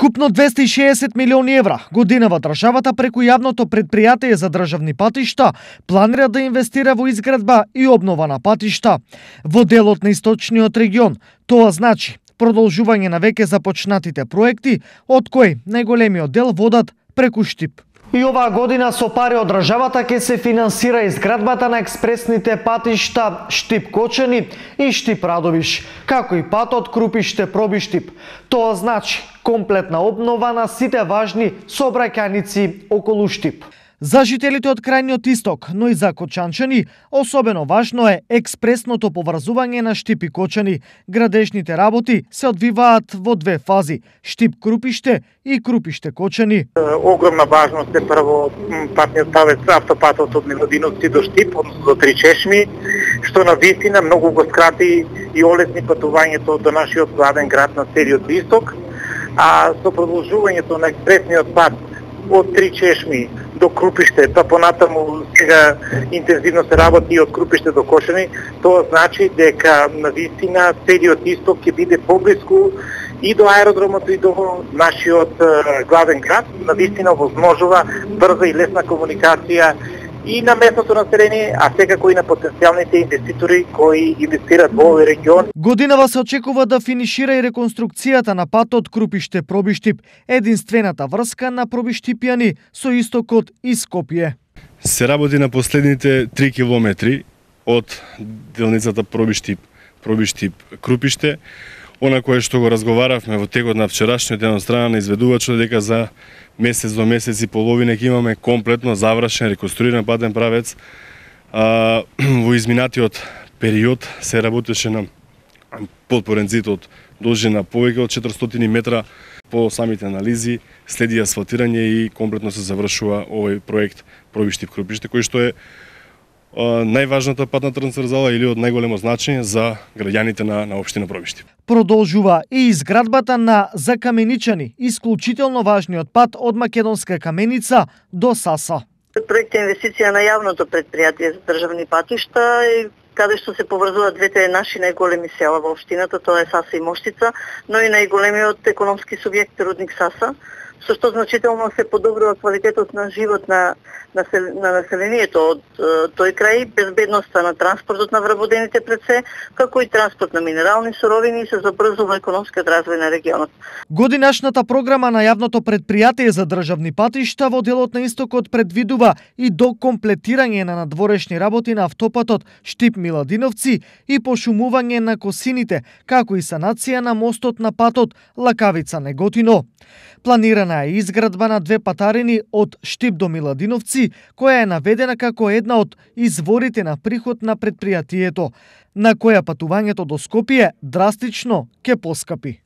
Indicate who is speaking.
Speaker 1: Вкупно 260 милиони евра годинава државата преку јавното предпријатие за државни патишта планира да инвестира во изградба и обнова на патишта во делот на источниот регион. Тоа значи продолжување на веќе започнатите проекти, од кои најголемиот дел водат преку Штип. И оваа година со пари од државата ќе се финансира изградбата на експресните патишта Штип-Кочани и Штип-Радовиш, како и патот Крупиште-Пробиштип. Тоа значи комплетна обнова на сите важни сообраќајници околу Штип. За жителите од крајниот исток, но и за кочанчани, особено важно е експресното поврзување на Штип и Кочани. Градежните работи се одвиваат во две фази: Штип-Крупиште и Крупиште-Кочани.
Speaker 2: Огромна важност е прво патниот правец, автопатот од Миладиновци до Штип, односно до Три чешми, што на вистина многу го скрати и олесни патувањето до нашиот гладен град на целиот исток, а со продолжувањето на експресниот пат од Три чешми до Крупиште, па понатаму сега интензивно се работи и од Крупиште до Кочани, тоа значи дека навистина целиот исток ќе биде поблиску и до аеродромот и до нашиот главен град, навистина возможува брза и лесна комуникација и на местното население, а секако и на потенцијалните инвеститори кои инвестират во овој регион.
Speaker 1: Годинава се очекува да финишира и реконструкцијата на патот Крупиште-Пробиштип, единствената врска на пробиштипјани со истокот и Скопје.
Speaker 3: Се работи на последните 3 километри од делницата Пробиштип-Крупиште, она кое што го разговаравме во текот на вчерашниот ден од страна на изведувачот, дека за месец до месец и половина ќе имаме комплетно завршен, реконструиран патен правец. Во изминатиот период се работеше на подпорен зид од должина повеќе од 400 метра. По самите анализи следи асфалтирање и комплетно се завршува овој проект Пробиштип-Крупиште, кој што е најважната патна трансверзала или од најголемо значење за граѓаните на општина Пробиштип.
Speaker 1: Продолжува и изградбата на закаменичани, исклучително важниот пат од Македонска Каменица до Саса.
Speaker 4: Проект е инвестиција на јавното предпријатие за државни патишта, каде што се поврзуваат двете наши најголеми села во општината, тоа е Саса и Моштица, но и најголемиот економски субјект Рудник Саса, со што значително се подобрува квалитетот на живот на населението од тој крај, безбедноста на транспортот на вработените пред се, како и транспорт на минерални суровини и се забрзува економскиот развој на регионот.
Speaker 1: Годинашната програма на јавното предпријатие за државни патишта во делот на истокот предвидува и докомплетирање на надворешни работи на автопатот Штип-Миладиновци и пошумување на косините, како и санација на мостот на патот Лакавица-Неготино. Планирана е изградба на две патарини од Штип до Миладиновци, која е наведена како една од изворите на приход на предпријатието, на која патувањето до Скопје драстично ќе поскапи.